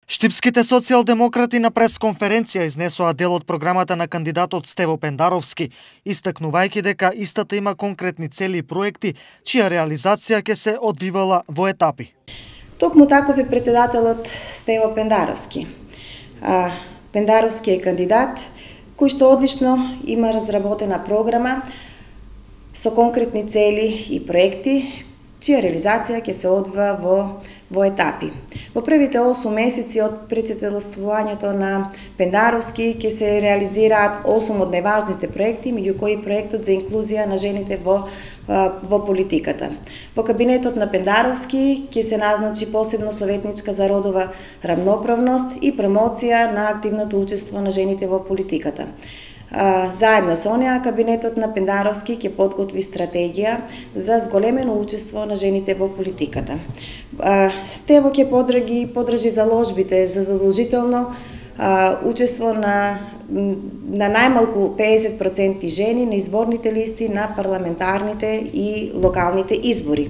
Штипските социјалдемократи на пресконференција изнесоа дел од програмата на кандидатот Стево Пендаровски, истакнувајќи дека истата има конкретни цели и проекти, чија реализација ќе се одвивала во етапи. Токму таков е председателот Стево Пендаровски. Пендаровски е кандидат кој што одлично има разработена програма со конкретни цели и проекти, чија реализација ќе се одвива во етапи. Во првите 8 месеци од председателствувањето на Пендаровски ќе се реализираат 8 од најважните проекти, меѓу кои проектот за инклузија на жените во политиката. Во кабинетот на Пендаровски ќе се назначи посебно советничка за родова рамноправност и промоција на активното учество на жените во политиката. Заедно со неа, кабинетот на Пендаровски ќе подготви стратегија за зголемено учество на жените во политиката. Стево ќе подржи заложбите за задолжително учество на најмалку 50% жени на изборните листи на парламентарните и локалните избори.